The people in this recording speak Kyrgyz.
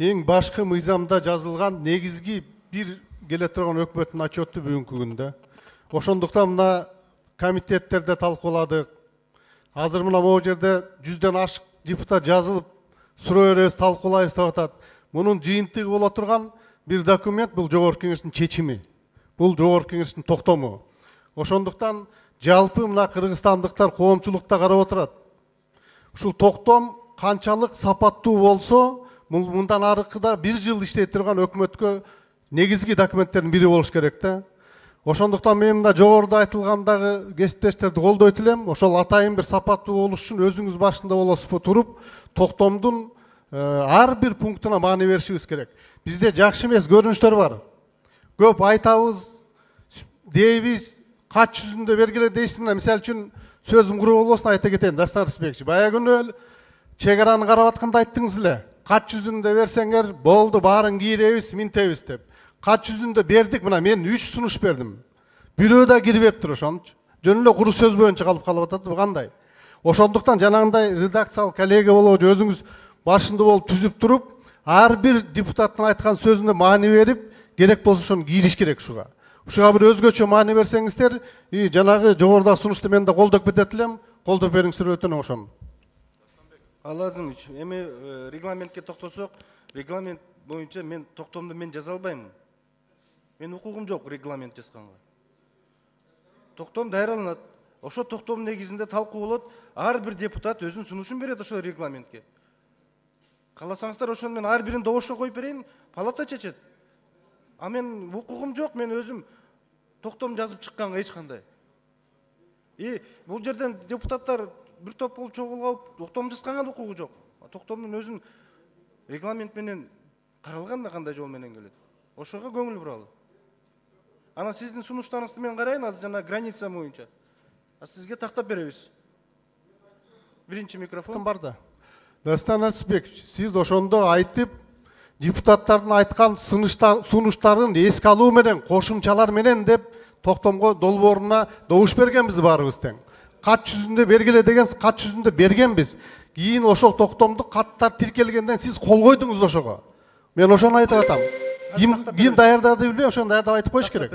эң башкы мыйзамда жазылган негизги бир келе турган өкмөттүн отчету бүгүнкү күндө. Ошондуктан мына комитеттерде талкууладык. Азыр мына могу жерде 100ден ашык депутат жазылып, суроо беребиз, талкуулайбыз деп атат. Мунун жыйынтыгы боло турган бир документ, бул Жогорку Кеңештин чечими. Бул Жогорку Кеңештин токтому. Ошондуктан жалпы мына кыргызстандыктар коомчулукта карап отурат. Ушул токтом канчалык сапаттуу болсо, мындан аркыда 1 жыл иштей турган өкмөткө негизги документтердин бири болуш керек да. Ошондуктан мен мында жогоруда айтылгандагы кесиптештерди колдойт элем. Ошол атайын бир сапаттуу болуш үчүн өзүңүз башында болосузбу туруп, токтомдун ар бир пунктуна маани беришибиз керек. Бизде жакшы эмес көрүнүштөр бар. Көп айтабыз, дейбиз, кач жүзүндө бергиле дейсиз. Мына мисалы үчүн сөзүм куру болбосун айта кетейин, Дастан Рысбекович. Баягы күнү чек араны карап атканда айттыңыз эле. Кач жүзүндө берсеңер, болду, баарын кийребиз, минтебиз деп. Кач жүзүндө бердик, мына мен 3 сунуш бердим. Бирөө да кирбептир ошончу. Жөн эле куру сөз боюнча калып атат, бу кандай? Ошондуктан жанагындай редакциялык коллега болобу, өзүңүз башында болуп түзүп туруп, ар бир депутаттын айткан сөзүнө маани берип, керек болсо ошону кийриш керек ушуга. Ушуга бир өзгөчө маани берсеңиздер, жанагы жогоруда сунушту мен да колдоп кетет элем, колдоп бериңиздер, өтүнөм ошону. Алазымович, эми регламентке токтосок, регламент боюнча мен токтомду мен жаза албаймын. Мен укугум жок регламент жазганга. Токтом даярдалат. Ошо токтом негизинде талкуу болот. Ар бир депутат өзүнүн сунушун берет ошо регламентке. Кааласаңыздар, ошону мен ар бирин добушка коюп берейин, палата чечет. А мен укугум жок, мен өзүм токтом жазып чыкканга эч кандай. Бул жерден депутаттар бир топ болуп чогулуп алып, токтом жазганга да укугу жок. Токтомдун өзүн регламент менен каралган да кандай жол менен келет. Ошого көңүл буралы. Анан сиздин сунуштарыңызды мен карайын, азыр жана граница боюнча. Сизге тактап беребиз. Биринчи микрофон бар да. Дастан Рысбекович, сиз ошондо айтып, депутаттардын айткан сунуштарын эске алуу менен, кошумчалар менен деп токтомго долбооруна добуш бергенбиз баарыбыз тең. Кат жүзүндө бергиле деген, кат жүзүндө бергенбиз. Кийин ошол токтомду каттар тиркелгенден сиз кол койдуңуз ошого. Мен ошону айтып атам. Ким даярдады билбейм, ошону даярдап айтып коюш керек.